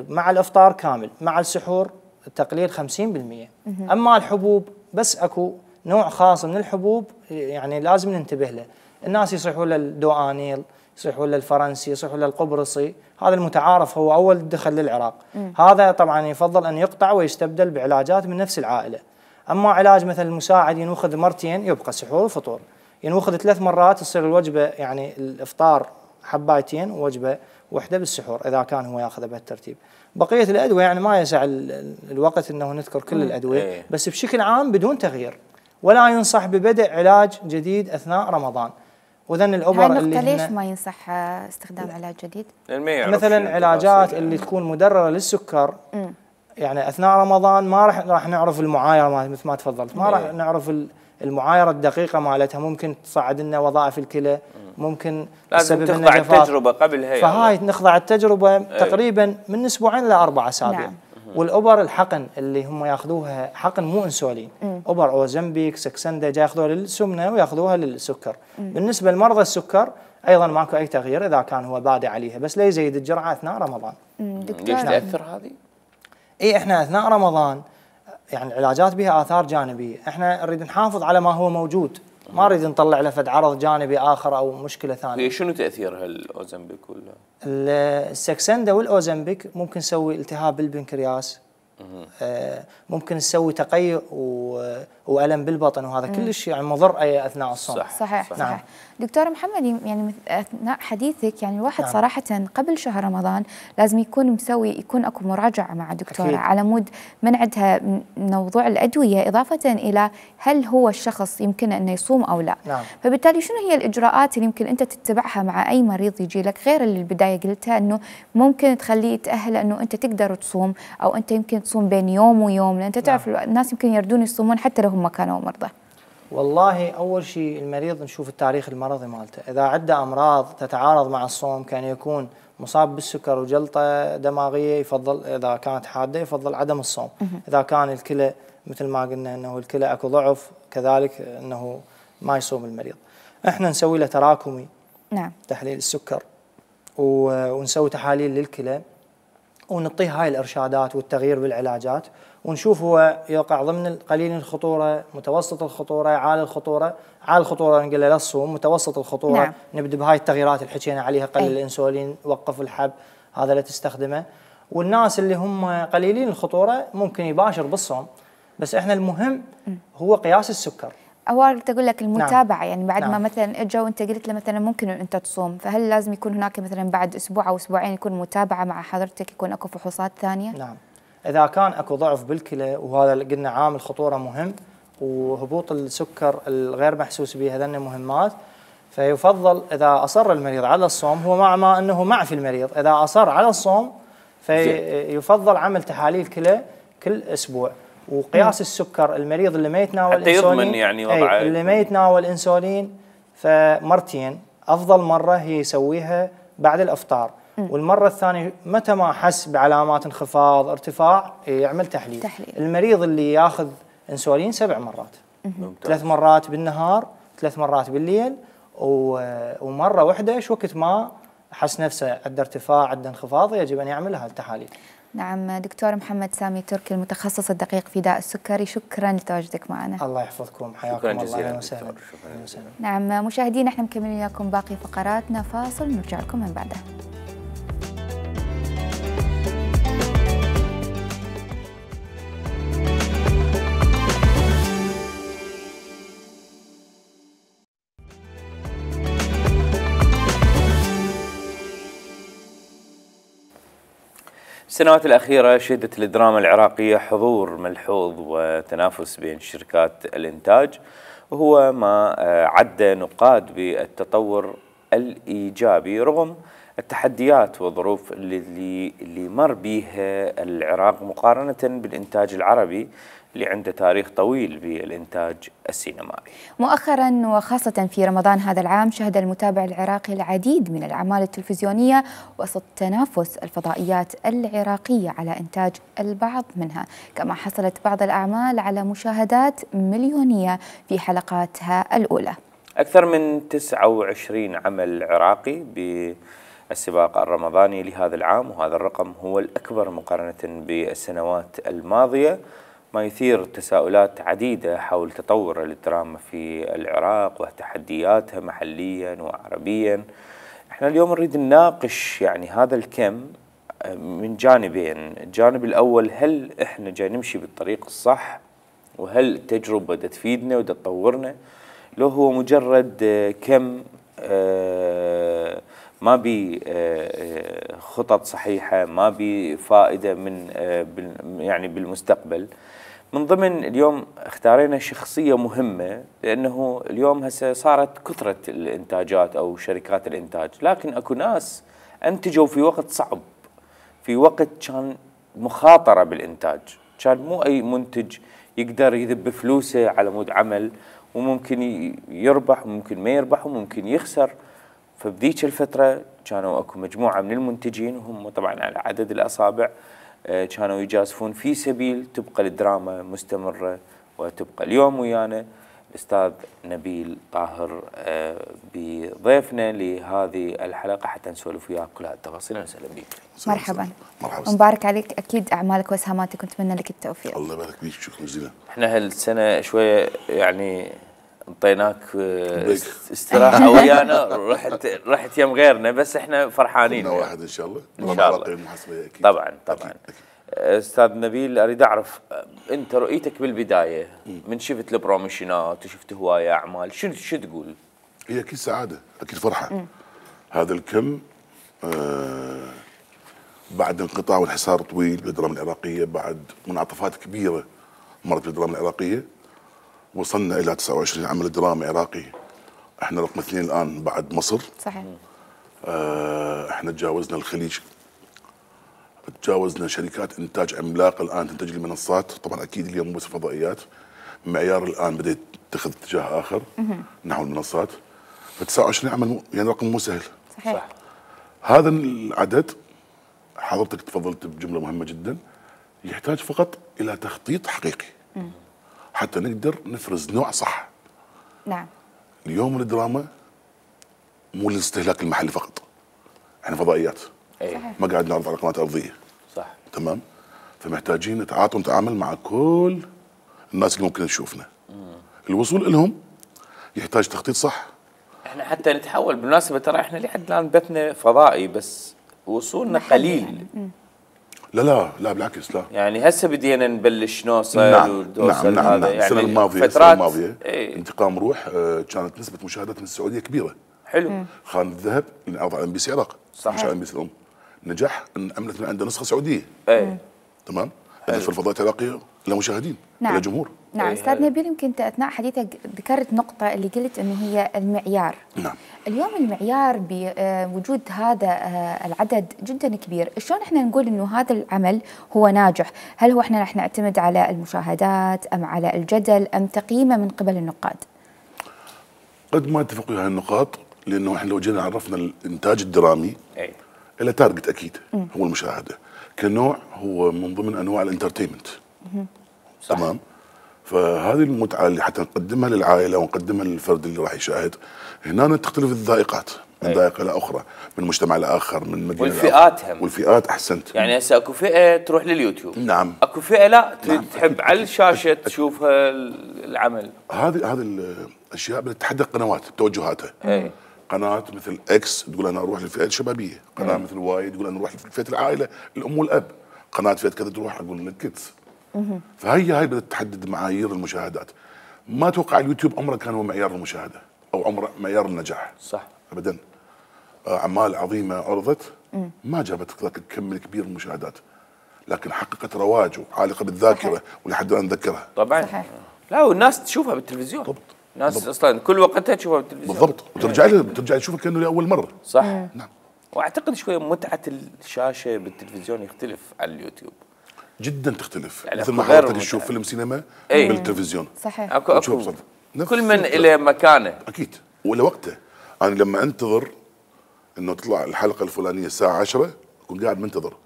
مع الافطار كامل مع السحور التقليل 50%. اما الحبوب بس اكو نوع خاص من الحبوب يعني لازم ننتبه له. الناس يصيحوا له الدوانيل، يصيحوا له الفرنسي، يصيحوا له القبرصي، هذا المتعارف هو اول دخل للعراق. هذا طبعا يفضل ان يقطع ويستبدل بعلاجات من نفس العائله. اما علاج مثل المساعد ينوخذ مرتين يبقى سحور وفطور، ينوخذ 3 مرات تصير الوجبه يعني الافطار حبايتين ووجبه وحده بالسحور اذا كان هو ياخذها بهالترتيب. بقيه الادويه يعني ما يسع الوقت انه نذكر كل الادويه، بس بشكل عام بدون تغيير، ولا ينصح ببدء علاج جديد اثناء رمضان. وذن الابر اللي ليش ما ينصح استخدام علاج جديد؟ مثلا علاجات اللي تكون مدرره للسكر يعني اثناء رمضان ما راح نعرف المعايره مثل ما تفضلت، ما راح نعرف المعايره الدقيقه مالتها، ممكن تصعد لنا وظائف الكلى، ممكن لازم تخضع التجربه قبلها. فهاي نخضع التجربه تقريبا من اسبوعين ل 4 اسابيع. نعم. والابر الحقن اللي هم ياخذوها حقن مو انسولين، ابر اوزمبيك، سكسندا، جاي ياخذوها للسمنه وياخذوها للسكر. بالنسبه لمرضى السكر ايضا ماكو اي تغيير اذا كان هو بادئ عليها، بس لا يزيد الجرعه اثناء رمضان. دكتور ليش تاثر هذه؟ احنا اثناء رمضان يعني العلاجات بها اثار جانبيه، احنا نريد نحافظ على ما هو موجود، ما نريد نطلع له فد عرض جانبي اخر او مشكله ثانيه. شنو تاثير هالاوزمبيك ولا؟ السكسندا والاوزمبيك ممكن تسوي التهاب بالبنكرياس، ممكن تسوي تقيؤ والم بالبطن، وهذا كلش يعني مضر اثناء الصوم. صحيح. نعم. دكتور محمد، يعني اثناء حديثك يعني الواحد نعم. صراحه قبل شهر رمضان لازم يكون اكو مراجعه مع دكتوره أكيد. على مود من عندها موضوع الادويه، اضافه الى هل هو الشخص يمكن انه يصوم او لا. نعم. فبالتالي شنو هي الاجراءات اللي يمكن انت تتبعها مع اي مريض يجي لك، غير اللي البدايه قلتها انه ممكن تخليه يتاهل انه انت تقدر تصوم، او انت يمكن تصوم بين يوم ويوم، لان انت تعرف الناس يمكن يردون يصومون حتى لو هم كانوا مرضى. والله اول شيء المريض نشوف التاريخ المرضي مالته، اذا عنده امراض تتعارض مع الصوم، كان يكون مصاب بالسكر وجلطه دماغيه، يفضل اذا كانت حاده يفضل عدم الصوم. اذا كان الكلى مثل ما قلنا انه الكلى اكو ضعف، كذلك انه ما يصوم المريض. احنا نسوي له تراكمي، نعم، تحليل السكر، ونسوي تحاليل للكلى، ونعطيه هاي الارشادات والتغيير بالعلاجات، ونشوف هو يقع ضمن قليل الخطوره، متوسط الخطوره، عالي الخطوره. عالي الخطوره نقول له لا تصوم، متوسط الخطوره نعم. نبدا بهاي التغييرات اللي حكينا عليها، قلل الانسولين، وقف الحب، هذا لا تستخدمه. والناس اللي هم قليلين الخطوره ممكن يباشر بالصوم، بس احنا المهم هو قياس السكر. أول تقول لك المتابعة. نعم. يعني بعد نعم. ما مثلا اجى وانت قلت له مثلا ممكن انت تصوم، فهل لازم يكون هناك مثلا بعد اسبوع او اسبوعين يكون متابعة مع حضرتك، يكون اكو فحوصات ثانية؟ نعم. اذا كان اكو ضعف بالكلى، وهذا اللي قلنا عامل خطورة مهم، وهبوط السكر الغير محسوس به، هذين مهمات، فيفضل اذا اصر المريض على الصوم، هو مع ما انه مع في المريض، اذا اصر على الصوم فيفضل عمل تحاليل كلى كل اسبوع، وقياس السكر. المريض اللي ما يتناول حتى يضمن يعني وضعه، اللي ما يتناول انسولين فمرتين، افضل مره هي يسويها بعد الافطار، والمره الثانيه متى ما حس بعلامات انخفاض ارتفاع يعمل تحليل. المريض اللي ياخذ انسولين 7 مرات، 3 مرات بالنهار، 3 مرات بالليل، ومره واحده وقت ما حس نفسه عنده ارتفاع، عنده انخفاض، يجب ان يعمل هالتحاليل. نعم. دكتور محمد سامي تركي، المتخصص الدقيق في داء السكري، شكرا لتواجدك معنا. الله يحفظكم، حياكم الله. شكرا جزيلا. نعم مشاهدينا، احنا مكملين لكم باقي فقراتنا، فاصل نرجع لكم من بعده. السنوات الأخيرة شهدت الدراما العراقية حضور ملحوظ وتنافس بين شركات الإنتاج، وهو ما عد نقاد بالتطور الإيجابي رغم التحديات والظروف اللي مر بها العراق مقارنة بالإنتاج العربي اللي عنده تاريخ طويل بالإنتاج السينمائي. مؤخرا وخاصة في رمضان هذا العام شهد المتابع العراقي العديد من الأعمال التلفزيونية وسط تنافس الفضائيات العراقية على إنتاج البعض منها، كما حصلت بعض الأعمال على مشاهدات مليونية في حلقاتها الأولى. أكثر من 29 عمل عراقي بالسباق الرمضاني لهذا العام، وهذا الرقم هو الأكبر مقارنة بالسنوات الماضية، ما يثير تساؤلات عديدة حول تطور الدراما في العراق وتحدياتها محليا وعربيا. احنا اليوم نريد نناقش يعني هذا الكم من جانبين. الجانب الأول، هل احنا جاي نمشي بالطريق الصح، وهل التجربة دا تفيدنا ودا تطورنا، لو هو مجرد كم ما بي خطط صحيحة، ما بي فائدة من يعني بالمستقبل. من ضمن اليوم اختارينا شخصية مهمة، لأنه اليوم هسه صارت كثرة الإنتاجات أو شركات الإنتاج، لكن أكو ناس أنتجوا في وقت صعب، في وقت كان مخاطرة بالإنتاج، كان مو أي منتج يقدر يذب فلوسه على مود عمل، وممكن يربح وممكن ما يربح وممكن يخسر. فبذيك الفترة كانوا أكو مجموعة من المنتجين، وهم طبعا على عدد الأصابع، كانوا يجازفون في سبيل تبقى الدراما مستمرة وتبقى. اليوم ويانا الأستاذ نبيل طاهر بضيفنا لهذه الحلقة حتى نسولف وياه كل هالتفاصيل. وسهلا بك. مرحبا. مبارك عليك، أكيد أعمالك وإسهاماتك ونتمنى لك التوفيق. الله يبارك فيك، شكرا جزيلا. احنا هالسنة شوية يعني انطيناك استراحة ويانا، رحت يم غيرنا، بس احنا فرحانين. واحد ان شاء الله. ان شاء الله. طبعا. استاذ نبيل، اريد اعرف انت رؤيتك بالبدايه من شفت البروموشنات وشفت هوايه اعمال، شو تقول؟ هي اكيد سعاده، اكيد فرحه. هذا الكم بعد انقطاع والحصار طويل بالدراما العراقيه، بعد منعطفات كبيره مرت بالدراما العراقيه، وصلنا الى 29 عمل درامي عراقي. احنا رقم 2 الان بعد مصر. صحيح. احنا تجاوزنا الخليج، تجاوزنا شركات انتاج عملاقه الان تنتج المنصات. طبعا اكيد اليوم مو بس فضائيات، معيار الان بدا يتخذ اتجاه اخر نحو المنصات. ف 29 عمل يعني رقم مو سهل. صحيح. هذا العدد حضرتك تفضلت بجمله مهمه جدا، يحتاج فقط الى تخطيط حقيقي حتى نقدر نفرز نوع صح. نعم. اليوم الدراما مو للاستهلاك المحلي فقط، احنا فضائيات. صحيح. ما قاعد نعرض على قناه ارضيه. صح. تمام. فمحتاجين نتعاطى ونتعامل مع كل الناس اللي ممكن تشوفنا. الوصول لهم يحتاج تخطيط صح. احنا حتى نتحول بالمناسبه، ترى احنا لحد الان بثنا فضائي بس وصولنا قليل يعني. لا بالعكس، لا. يعني هسه بدينا نبلش نوصل نعم ونوصل نعم. هذا يعني السنه الماضيه انتقام روح كانت نسبه مشاهدات من السعوديه كبيره. حلو. خان الذهب اللي انعرض على ام بي سي عراق، صحيح. مش على ام بي سي الام، نجح ان عملت من عنده نسخه سعوديه. تمام. في الفضاءات العراقيه لا مشاهدين نعم. ولا جمهور. نعم. استاذ نبيل، يمكن انت اثناء حديثك ذكرت نقطه اللي قلت انه هي المعيار. نعم. اليوم المعيار بوجود هذا العدد جدا كبير، شلون احنا نقول انه هذا العمل هو ناجح؟ هل هو احنا رح نعتمد على المشاهدات ام على الجدل ام تقييمه من قبل النقاد؟ قد ما اتفقوا هاي النقاط، لانه احنا لو جينا عرفنا الانتاج الدرامي الى تارجت اكيد هو المشاهده كنوع، هو من ضمن انواع الانترتينمنت. تمام. فهذه المتعه اللي حتى نقدمها للعائله ونقدمها للفرد اللي راح يشاهد، هنا تختلف الذائقات من ذائقه الى اخرى، من مجتمع لاخر، من مدينه والفئات هم. والفئات احسنت. يعني هسه اكو فئه تروح لليوتيوب. نعم. اكو فئه لا نعم. تحب على الشاشه تشوفها العمل. هذه الاشياء بتتحدد قنوات بتوجهاتها. قناه مثل اكس تقول انا اروح للفئه الشبابيه، قناه مثل واي تقول انا اروح لفئه العائله الام والاب، قناه فئه كذا تروح اقول للكيدز. فهي بدات تحدد معايير المشاهدات. ما اتوقع اليوتيوب عمره كان هو معيار المشاهده او عمره معيار النجاح. صح. ابدا. اعمال عظيمه عرضت ما جابت ذاك الكم الكبير من المشاهدات، لكن حققت رواج وعالقه بالذاكره ولحد الان نتذكرها. طبعا. صحيح. لا والناس تشوفها بالتلفزيون. بالضبط. الناس اصلا كل وقتها تشوفها بالتلفزيون. بالضبط. وترجع تشوفها كانه لاول مره. صح. نعم. واعتقد شويه متعه الشاشه بالتلفزيون يختلف عن اليوتيوب. جدا تختلف. يعني مثل ما حضرتك تشوف فيلم سينما بالتلفزيون. صحيح. اكو كل من الى مكانه. اكيد ولا وقته. انا لما انتظر انه تطلع الحلقه الفلانيه الساعه 10 اكون قاعد منتظر.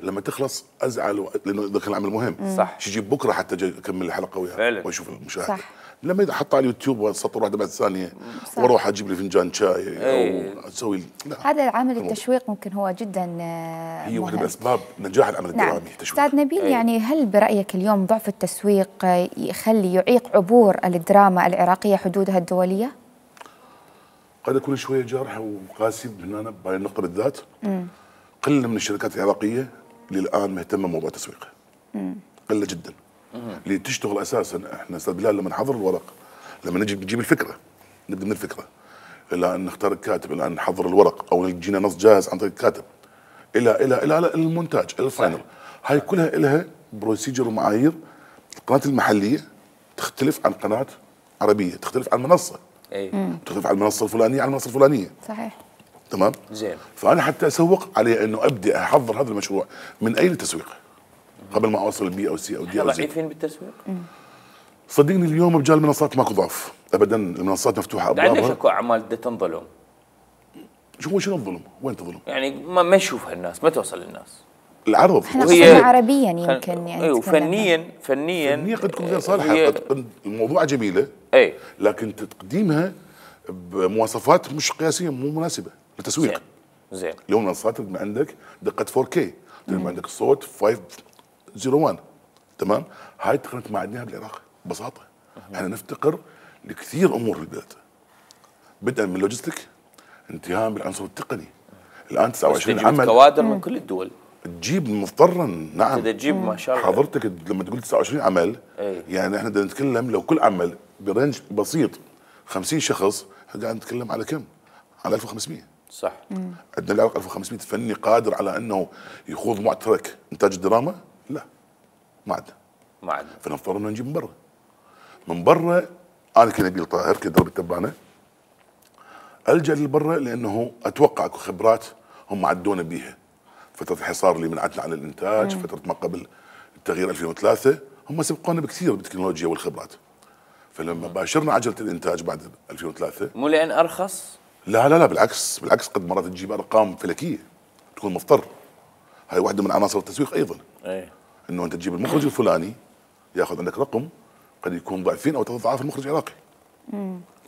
لما تخلص ازعل لانه اذا كان العمل مهم. صح. شي يجيب بكره حتى اكمل الحلقه وياها واشوف المشاهد. صح. لما اذا حط على اليوتيوب وسطر واحده بعد الثانيه واروح اجيب لي فنجان شاي او اسوي هذا العامل التشويق ممكن هو جدا هي واحده من اسباب نجاح العمل الدرامي. التشويق. استاذ نبيل، يعني هل برايك اليوم ضعف التسويق يعيق عبور الدراما العراقيه حدودها الدوليه؟ قد اكون شويه جارح وقاسي هنا بهاي النقطه بالذات. قله من الشركات العراقيه اللي الان مهتمه بموضوع التسويق. قله جدا. اللي تشتغل اساسا. احنا استاذ بلال لما نحضر الورق، لما نجيب الفكره، نبدا من الفكره الى ان نختار الكاتب، الى ان نحضر الورق او يجينا نص جاهز عن طريق الكاتب الى المونتاج الى الفاينل. هاي كلها لها بروسيجر ومعايير. القناه المحليه تختلف عن قناه عربيه، تختلف عن منصه. تختلف عن المنصه الفلانيه عن المنصه الفلانيه. صحيح. تمام. زين. فانا حتى اسوق علي انه ابدا احضر هذا المشروع من اي للتسويق قبل ما اوصل البي او سي او دي او زي. ضعيفين بالتسويق؟ صدقني اليوم رجال المنصات ماكو ضعف ابدا، المنصات مفتوحه ابوابها. عندك اكو اعمال بدها تنظلم. شنو الظلم؟ وين تظلم؟ يعني ما يشوفها الناس، ما توصل للناس. العرض وهي عربيا يمكن يعني وفنيا قد تكون غير صالحه، قد الموضوع جميله لكن تقديمها بمواصفات مش قياسيه مو مناسبه للتسويق. زين. اليوم المنصات من عندك دقه 4K، عندك الصوت 501. تمام. هاي التقنيات ما عندناها بالعراق ببساطه. احنا نفتقر لكثير امور بالبلد، بدءا من لوجستيك انتهاء بالعنصر التقني. الان 29 عمل كوادر من كل الدول. تجيب مضطرا. نعم تجيب ما شاء الله. حضرتك لما تقول 29 عمل، يعني احنا بدنا نتكلم لو كل عمل برنج بسيط 50 شخص، احنا قاعد نتكلم على كم؟ على 1500. صح. عندنا العراق 1500 فني قادر على انه يخوض معترك انتاج الدراما؟ لا، ما عندنا. فنضطر انه نجيب من برا. من برا انا كنبيل طاهر كدرب التبانه الجا للبرا، لانه اتوقع اكو خبرات هم عدونا بيها. فتره الحصار اللي منعتنا عن الانتاج، فتره ما قبل التغيير 2003 هم سبقونا بكثير بالتكنولوجيا والخبرات. فلما باشرنا عجله الانتاج بعد 2003 مو لان ارخص؟ لا بالعكس قد مرات تجيب ارقام فلكيه، تكون مضطر. هاي واحده من عناصر التسويق ايضا. انه انت تجيب المخرج الفلاني ياخذ عندك رقم قد يكون ضعفين او 3 اضعاف المخرج العراقي.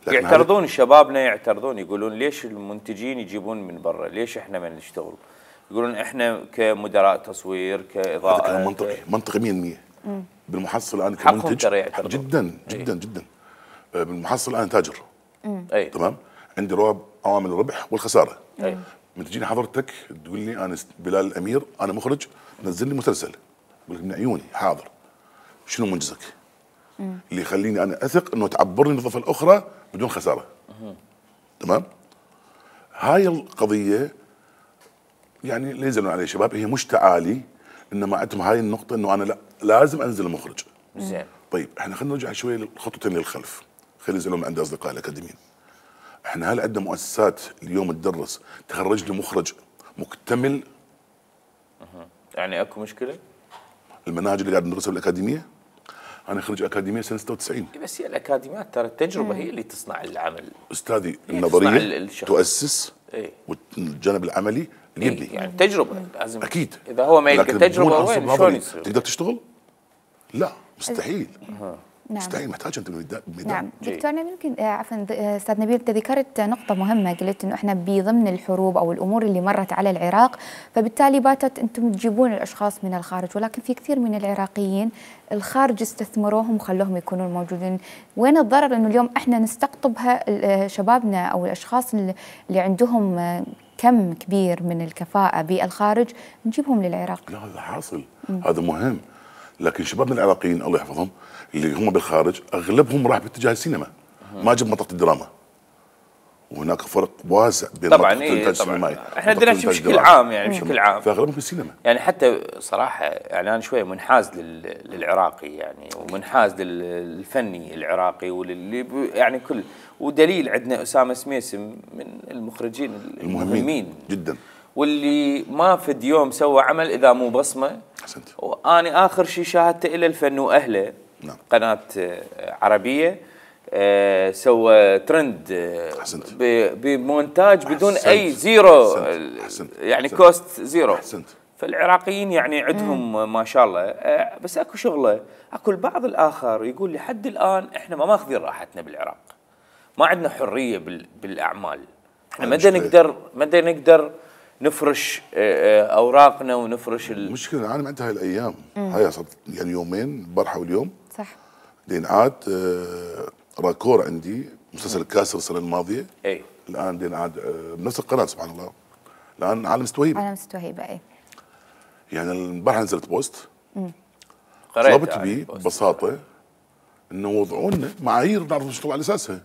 يعترضون شبابنا، يقولون ليش المنتجين يجيبون من برا؟ ليش احنا ما نشتغل؟ يقولون احنا كمدراء تصوير كاضاءه. هذا كلام منطقي 100%. بالمحصل الان كمنتج جدا بالمحصل الان تاجر. تمام. عندي عوامل الربح والخساره. من تجيني حضرتك تقول لي انا بلال الامير انا مخرج نزل لي مسلسل، اقول لك من عيوني حاضر، شنو منجزك؟ اللي يخليني انا اثق انه تعبرني الوظيفه الاخرى بدون خساره. تمام. هاي القضيه يعني لا يزالون عليه شباب، هي مش تعالي، انما عندهم هاي النقطه انه انا لا لازم انزل المخرج. زين. طيب احنا خلينا نرجع شويه خطوتين للخلف، خلي يزعلون عندي اصدقاء الاكاديميين. احنا هل عندنا مؤسسات اليوم تدرس تخرج لي مخرج مكتمل؟ يعني اكو مشكله؟ المناهج اللي قاعد ندرسها بالاكاديميه، انا خريج اكاديميه سنه 96. بس هي الاكاديميات ترى التجربه هي اللي تصنع العمل. استاذي النظريه تؤسس والجانب العملي يبني. يعني تجربه لازم. اكيد. اذا هو ما يلقى تجربه وين شلون يصير؟ تقدر تشتغل؟ لا مستحيل. مستحيل، محتاج انت الميدان. نعم دكتورنا، ممكن عفوا استاذ نبيل، انت ذكرت نقطه مهمه، قلت انه احنا بضمن الحروب او الامور اللي مرت على العراق، فبالتالي باتت انتم تجيبون الاشخاص من الخارج، ولكن في كثير من العراقيين الخارج استثمروهم وخلوهم يكونون موجودين. وين الضرر انه اليوم احنا نستقطبها شبابنا او الاشخاص اللي عندهم كم كبير من الكفاءه بالخارج نجيبهم للعراق؟ لا هذا حاصل، هذا مهم. لكن شبابنا العراقيين الله يحفظهم اللي هم بالخارج اغلبهم راح باتجاه السينما، ما جاب منطقه الدراما. وهناك فرق واسع بين طبعا الانتاج السينمائي. احنا عندنا بشكل عام يعني بشكل عام فاغلبهم في السينما. يعني حتى صراحه يعني انا شويه منحاز للعراقي يعني، ومنحاز للفني العراقي واللي يعني كل، ودليل عندنا اسامه سميسم من المخرجين المهمين جدا، واللي ما فد يوم سوى عمل اذا مو بصمه. احسنت. وانا اخر شيء شاهدته الى الفن واهله. نعم. قناه عربيه سوى ترند بمونتاج بدون اي زيرو. أحسنت. يعني كوست زيرو. احسنت. فالعراقيين يعني عندهم ما شاء الله، بس اكو شغله. اكو البعض الاخر يقول لحد الان احنا ما ماخذين راحتنا بالعراق، ما عندنا حريه بالاعمال. احنا متى نقدر نفرش اوراقنا ونفرش المشكله انا عندها هاي الايام، هاي صارت يعني يومين البارحه واليوم. صح. دين عاد راكور عندي مسلسل الكاسر السنه الماضيه. الان دين عاد بنفس القناه سبحان الله. الان عالم ستوهيبه. يعني البارحه نزلت بوست طلبت بيه ببساطه انه وضعوا لنا معايير نعرف نشتغل على اساسها.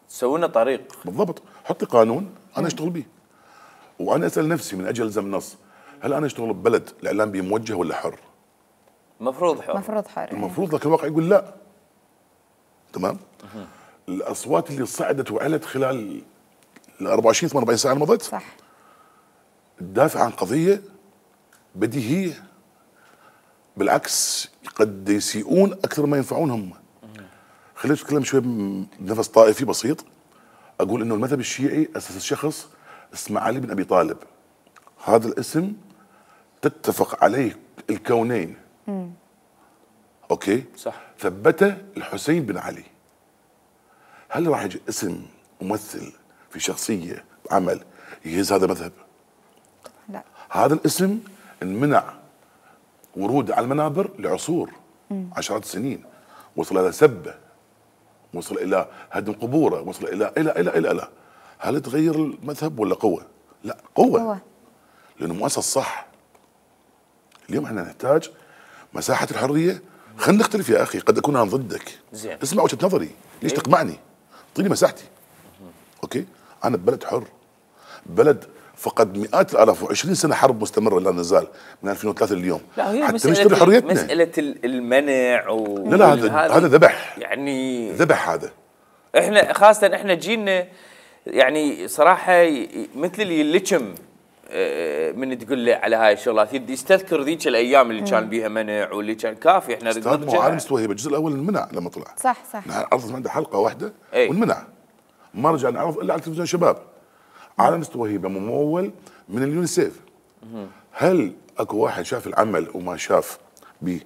تسوي لنا طريق بالضبط، حطي قانون انا اشتغل به. وانا اسال نفسي من اجل الزم نص، هل انا اشتغل ببلد الاعلام به موجه ولا حر؟ المفروض حر. المفروض، لكن الواقع يقول لا. تمام؟ الاصوات اللي صعدت وعلت خلال ال 24 48 ساعه المضت صح تدافع عن قضيه بديهيه، بالعكس قد يسيئون اكثر ما ينفعون هم. خليني اتكلم شوي بنفس طائفي بسيط، اقول انه المذهب الشيعي اسس شخص اسمه علي بن ابي طالب. هذا الاسم تتفق عليه الكونين. اوكي؟ صح. ثبته الحسين بن علي. هل راح يجي اسم ممثل في شخصيه عمل يهز هذا المذهب؟ لا. هذا الاسم انمنع ورود على المنابر لعصور، عشرات السنين، وصل الى سبه، وصل الى هدم قبوره، وصل الى الى الى الى الى هل تغير المذهب ولا قوه؟ لا، قوه. لانه مؤسس صح. اليوم احنا نحتاج مساحه الحريه. خلينا نختلف يا اخي، قد اكون انا ضدك. زين. اسمع وجهه نظري، ليش تقمعني؟ اعطيني مساحتي. اوكي؟ انا ببلد حر، بلد فقد مئات الالاف و20 سنه حرب مستمره لا نزال من 2003 لليوم. لا هي حتى نشتري حريتنا. مساله المنع لا هذا ذبح، يعني ذبح هذا. احنا خاصه احنا جيلنا يعني صراحه مثل اللي يلجم من تقول له على هاي الشغلات يستذكر ذيك الايام اللي كان بيها منع واللي كان كافي. احنا استاذ مو عالم مستوى هيبه، الجزء الاول انمنع لما طلع. صح. نحن عرضنا عنده حلقه واحده أي. وانمنع، ما رجع نعرض الا على تلفزيون شباب. عالم مستوى هيبه ممول من اليونيسيف. هل اكو واحد شاف العمل وما شاف به؟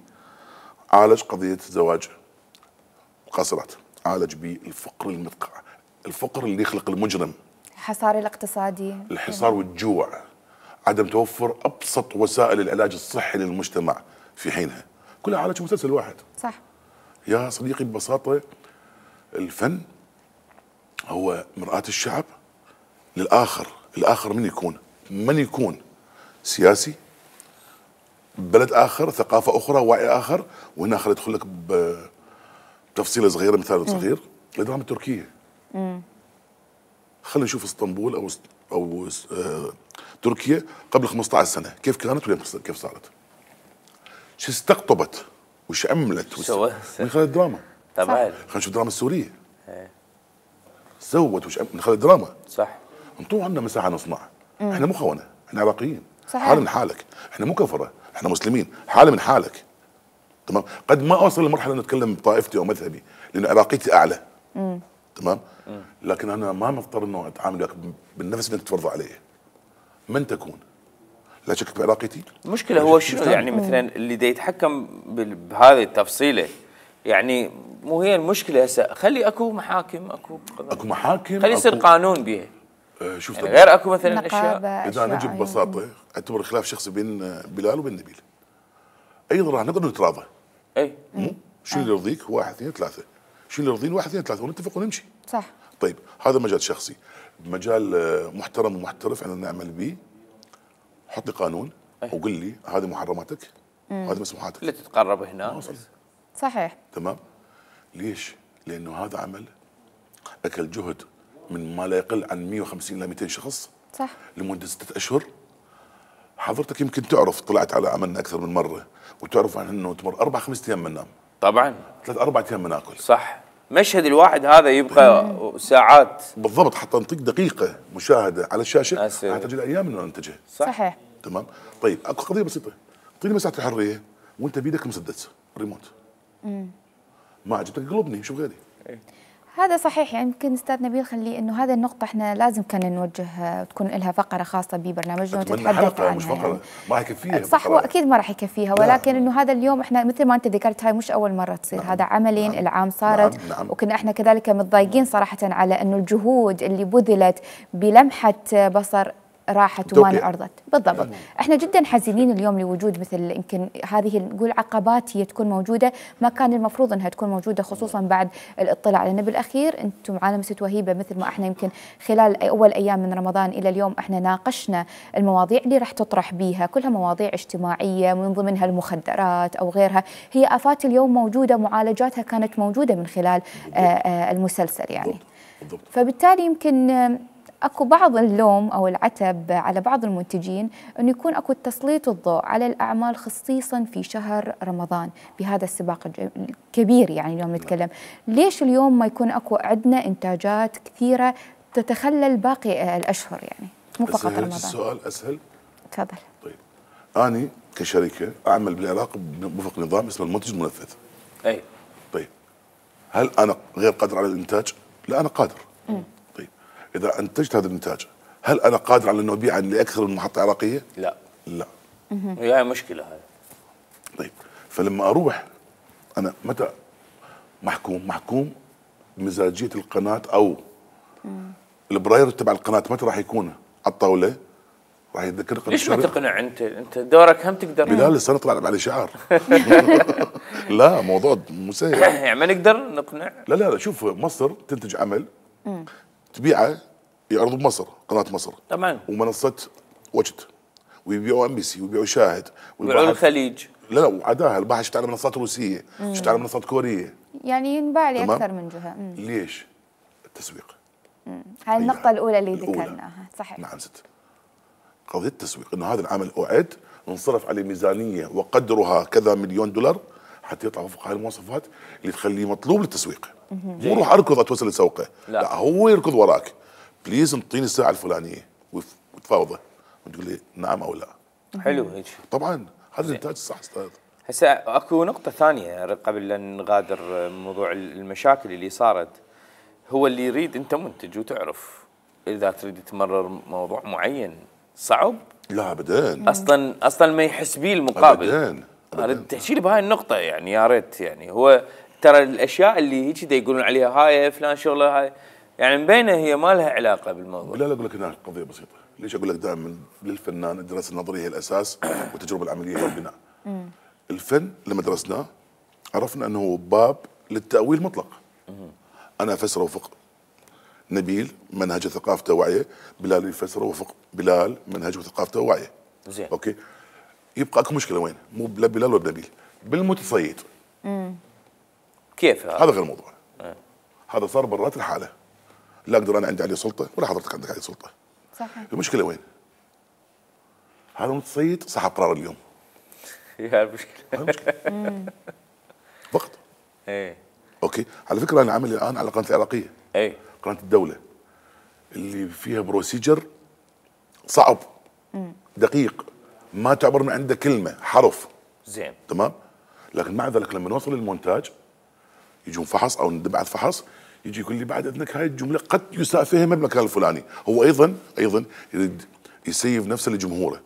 عالج قضيه زواج القاصرات، عالج به الفقر المدقع، الفقر اللي يخلق المجرم، الحصار الاقتصادي، الحصار والجوع، عدم توفر ابسط وسائل العلاج الصحي للمجتمع في حينها، كلها عالج مسلسل واحد. صح. يا صديقي ببساطه الفن هو مرآة الشعب للآخر. الآخر من يكون سياسي، بلد آخر، ثقافة أخرى، وعي آخر. وهنا خليني أدخل لك بتفصيلة صغيرة، مثال صغير، الدراما التركية. خلينا نشوف اسطنبول أو تركيا قبل 15 سنة كيف كانت كيف صارت، شو استقطبت وش عملت من خلال الدراما. طبعا. خلينا نشوف الدراما السورية سوت وش من خلال الدراما. صح. انطوا عنا مساحه نصنع. احنا مو خونه، احنا عراقيين. صحيح. حال من حالك، احنا مو كفره، احنا مسلمين، حال من حالك. تمام؟ قد ما اوصل لمرحله ان اتكلم بطائفتي او مذهبي لان عراقيتي اعلى. تمام؟ لكن انا ما مضطر انه اتعامل وياك بالنفس اللي تفرض علي. من تكون؟ لا شك بعراقيتي. المشكله هو شنو يعني مثلا اللي دا يتحكم بهذه التفصيله، يعني مو هي المشكله هسه. خلي اكو محاكم، اكو محاكم، خلي يصير قانون بيها. شوف يعني غير اكو مثلا اشياء. اذا نجي ببساطه اعتبر خلاف شخصي بين بلال وبين نبيل، ايضا راح نقدر نتراضى. اي شو اللي يرضيك؟ 1 2 3، شو اللي يرضيني؟ 1 2 3 ونتفق ونمشي. صح. طيب هذا مجال شخصي. مجال محترم ومحترف احنا نعمل به، حط لي قانون وقل لي هذه محرماتك وهذه مسموحاتك. لا تتقرب هنا. صحيح. تمام. ليش؟ لانه هذا عمل اكل جهد من ما لا يقل عن 150 الى 200 شخص. صح. لمده 6 اشهر. حضرتك يمكن تعرف، طلعت على عملنا اكثر من مره وتعرف عن انه تمر 4 5 ايام ما ننام. طبعا. 3 4 ايام ما ناكل. صح. مشهد الواحد هذا يبقى ساعات. بالضبط، حتى نعطيك دقيقه مشاهده على الشاشه تحتاج الى ايام انه ننتجها. صحيح. تمام. طيب اكو قضيه بسيطه، اعطيني مساحه الحريه وانت بيدك مسدس ريموت. ما عجبتك قلبني شوف غيري. هذا صحيح. يعني يمكن استاذ نبيل خلي انه هذه النقطه احنا لازم كان نوجه تكون لها فقره خاصه ببرنامجنا وتتحدث عنها. مش فقره يعني. ما راح يكفيها. صح، واكيد ما راح يكفيها، ولكن انه هذا اليوم احنا مثل ما انت ذكرت هاي مش اول مره تصير. هذا عملين العام صارت. نعم. وكنا احنا كذلك متضايقين صراحه على انه الجهود اللي بذلت بلمحه بصر راحت وما انعرضت. بالضبط. احنا جدا حزينين اليوم لوجود مثل يمكن هذه نقول عقبات هي تكون موجوده ما كان المفروض انها تكون موجوده، خصوصا بعد الاطلاع، لان بالاخير انتم عالم ست وهيبه مثل ما احنا يمكن خلال اول ايام من رمضان الى اليوم احنا ناقشنا المواضيع اللي راح تطرح بيها، كلها مواضيع اجتماعيه من ضمنها المخدرات او غيرها، هي افات اليوم موجوده، معالجاتها كانت موجوده من خلال المسلسل يعني. بالضبط. فبالتالي يمكن اكو بعض اللوم او العتب على بعض المنتجين انه يكون اكو تسليط الضوء على الاعمال خصيصا في شهر رمضان بهذا السباق الكبير. يعني اليوم نتكلم ليش اليوم ما يكون اكو عندنا انتاجات كثيره تتخلل باقي الاشهر، يعني مو فقط رمضان. السؤال اسهل. تفضل. طيب اني كشركه اعمل بالعراق وفق نظام اسمه المنتج المنفذ. اي. طيب هل انا غير قادر على الانتاج؟ لا انا قادر. طيب اذا انتجت هذا الانتاج هل انا قادر على انه ابيعه لاكثر من محطه عراقيه؟ لا. لا. هي مشكله هذه. طيب فلما اروح انا متى محكوم بمزاجيه القناه او البراير تبع القناه متى راح يكون على الطاوله؟ راح يتذكر قناه ليش ما تقنع انت دورك هم تقدر. بلال السنه طلع على شعار. لا موضوع مو سهل. يعني ما نقدر نقنع. لا شوف مصر تنتج عمل تبيعه يعرض بمصر قناه مصر طبعا ومنصه وجد ويبيعوا MBC ويبيعوا شاهد ويبيعوا الخليج. لا وعداها الباحث شفت على منصات روسيه، شفت على منصات كوريه، يعني ينباع لي اكثر من جهه. ليش؟ التسويق. هاي النقطه الاولى اللي ذكرناها. صحيح. نعم ست. قضيه التسويق انه هذا العمل اعد انصرف عليه ميزانيه وقدرها كذا مليون دولار حتى يطلع وفق هاي المواصفات اللي تخليه مطلوب للتسويق. مو روح اركض اتوسل لسوقه، لا هو يركض وراك. بليز انطيني الساعه الفلانيه وتفاوضه وتقول لي نعم او لا. حلو هيك. طبعا هذا الانتاج الصح استاذ. هسه اكو نقطه ثانيه قبل ان نغادر موضوع المشاكل اللي صارت. هو اللي يريد انت منتج وتعرف اذا تريد تمرر موضوع معين صعب. لا ابدا. اصلا ما يحس بيه المقابل. ابدا. اريد تحكي لي بهاي النقطه يعني يا ريت. يعني هو ترى الاشياء اللي هيك دا يقولون عليها هاي فلان شغله هاي يعني مبينه هي ما لها علاقه بالموضوع. لا اقول لك هنا قضيه بسيطه. ليش اقول لك دائما للفنان الدراسه النظريه هي الاساس والتجربه العمليه هي البناء. الفن لما درسناه عرفنا انه هو باب للتاويل مطلق. انا افسره وفق نبيل منهج ثقافته ووعيه، بلال يفسره وفق بلال منهج وثقافته ووعيه. زين. اوكي. يبقى اكو مشكله وين؟ مو لا بلال ولا نبيل، بالمتصيد. كيف هذا غير الموضوع. هذا صار برات الحاله. لا اقدر انا عندي عليه سلطه ولا حضرتك عندك عليه سلطه. صحيح. المشكله وين؟ هذا المتصيد صاحب قرار اليوم. هي المشكله. فقط. ايه. اوكي. على فكره انا عامل الان على القناه العراقيه. ايه. قناه الدوله اللي فيها بروسيجر صعب دقيق ما تعبر من عنده كلمه حرف. زين. تمام. لكن مع ذلك لما نوصل للمونتاج يجون فحص او نبعث فحص يجي يقول لي بعد اذنك هاي الجمله قد يساء فهمها بالمكان الفلاني. هو ايضا يريد يسيف نفسه لجمهوره.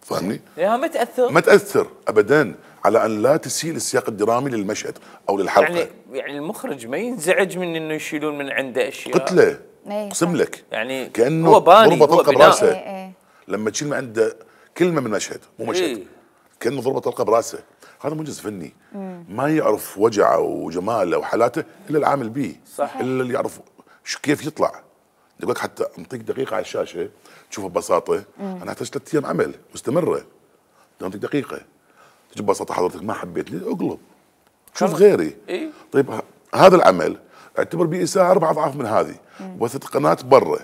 فاهمني؟ يا ما تاثر. ما تاثر ابدا على ان لا تسيء السياق الدرامي للمشهد او للحلقه. يعني المخرج ما ينزعج من انه يشيلون من عنده اشياء. قلت له اقسم لك يعني كانه ضربه طلقه براسه. لما تشيل من عنده كلمه من مشهد مو مشهد. كانه ضربه طلقه براسه. هذا منجز فني. ما يعرف وجعه وجماله وحالاته الا العامل به. صح. الا اللي يعرف كيف يطلع. يقول لك حتى انطيك دقيقه على الشاشه تشوفها ببساطه. انا احتاج 3 ايام عمل مستمره. انطيك دقيقه تجي ببساطه حضرتك ما حبيت لي اقلب شوف غيري. إيه؟ طيب هذا العمل اعتبر به اساءه 4 اضعاف من هذه. وثت قناه برا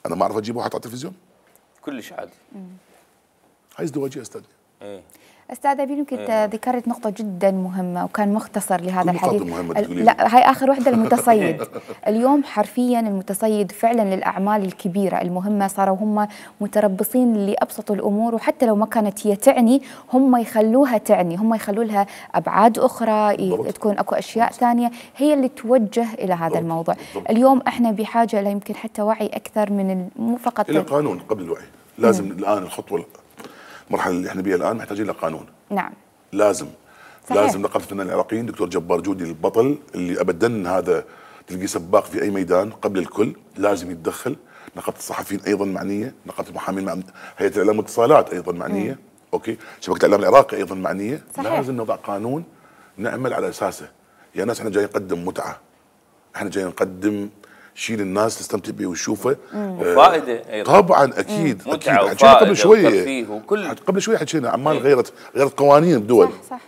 انا ما اعرف اجيبه واحد على التلفزيون كلش عادي. هاي ازدواجيه استاذ. ايه. استاذ أبي يمكن ذكرت نقطة جدا مهمة وكان مختصر لهذا الحديث. لا هاي آخر وحدة المتصيد. اليوم حرفيا المتصيد فعلا للأعمال الكبيرة المهمة صاروا هم متربصين لأبسط الأمور وحتى لو ما كانت هي تعني هم يخلوها تعني هم يخلوا لها أبعاد أخرى تكون أكو أشياء ثانية هي اللي توجه إلى هذا الموضوع. اليوم احنا بحاجة إلى يمكن حتى وعي أكثر من مو فقط إلى قانون قبل الوعي. لازم الآن الخطوة المرحله اللي احنا بيها الان محتاجين لقانون. نعم. لازم. صحيح. لازم نقابه الفنانين العراقيين دكتور جبار جودي البطل اللي ابدا هذا تلقي سباق في اي ميدان قبل الكل لازم يتدخل. نقابه الصحفيين ايضا معنيه، نقابه المحامين هيئه الاعلام والاتصالات ايضا معنيه. اوكي. شبكه الاعلام العراقي ايضا معنيه. صحيح. لازم نضع قانون نعمل على اساسه. يا ناس احنا جايين نقدم متعه. احنا جايين نقدم شيء للناس تستمتع به وتشوفه وفائده ايضا. طبعا اكيد متعه اكيد. قبل شويه وكل قبل شويه حكينا عمال غيرت قوانين الدول. صح.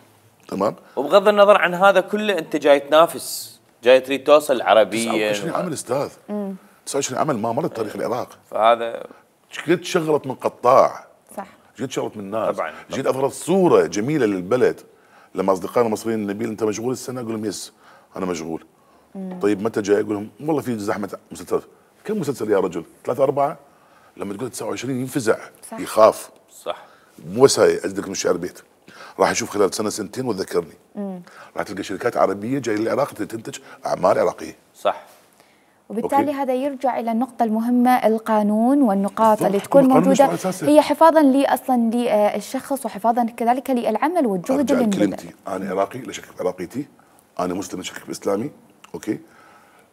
تمام. وبغض النظر عن هذا كله انت جاي تنافس، جاي تريد توصل عربيا. 29 عمل استاذ. 29 عمل ما مرت تاريخ العراق. فهذا جيت شغلت من قطاع. صح. جيت شغلت من ناس. طبعا. جيت اظهرت صوره جميله للبلد. لما اصدقائنا المصريين نبيل انت مشغول السنه اقول لهم يس انا مشغول. طيب متى جاي؟ اقول لهم والله في زحمه مسلسلات. كم مسلسل يا رجل؟ 3 4. لما تقول 29 ينفزع. صح. يخاف. صح. مو بس هاي ازدك من الشعر بيت راح اشوف خلال سنه سنتين وتذكرني. راح تلقى شركات عربيه جايه للعراق تنتج اعمال عراقيه. صح. وبالتالي أوكي. هذا يرجع الى النقطه المهمه القانون والنقاط اللي تكون موجوده هي حفاظا اصلا للشخص وحفاظا كذلك للعمل والجهد اللي كلمتي انا عراقي لا شك بعراقيتي، انا مسلم لا شك باسلامي. اوكي.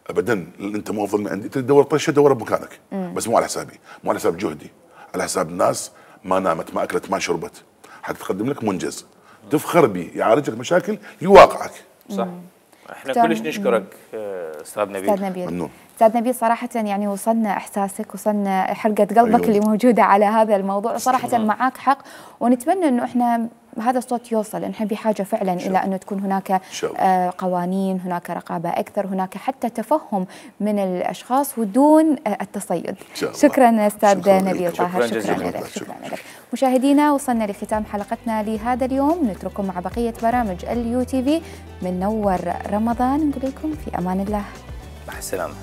ابدا انت مو افضل من عندي تدور طشه دور بمكانك. بس مو على حسابي، مو على حساب جهدي، على حساب الناس ما نامت ما اكلت ما شربت حتى تقدم لك منجز تفخر به يعالجك مشاكل لواقعك. صح. احنا كلش نشكرك استاذ نبيل. ممنون. استاذ نبيل صراحه يعني وصلنا احساسك، وصلنا حرقه قلبك اللي موجوده على هذا الموضوع، وصراحه معاك حق، ونتمنى انه احنا هذا الصوت يوصل. نحن بحاجه فعلا الى انه تكون هناك قوانين، هناك رقابه اكثر، هناك حتى تفهم من الاشخاص ودون التصيد. شكرا استاذ نبيل طاهر، شكرا لك. مشاهدينا وصلنا لختام حلقتنا لهذا اليوم، نترككم مع بقيه برامج اليو تي في من نور رمضان، نقول لكم في امان الله، مع السلامه.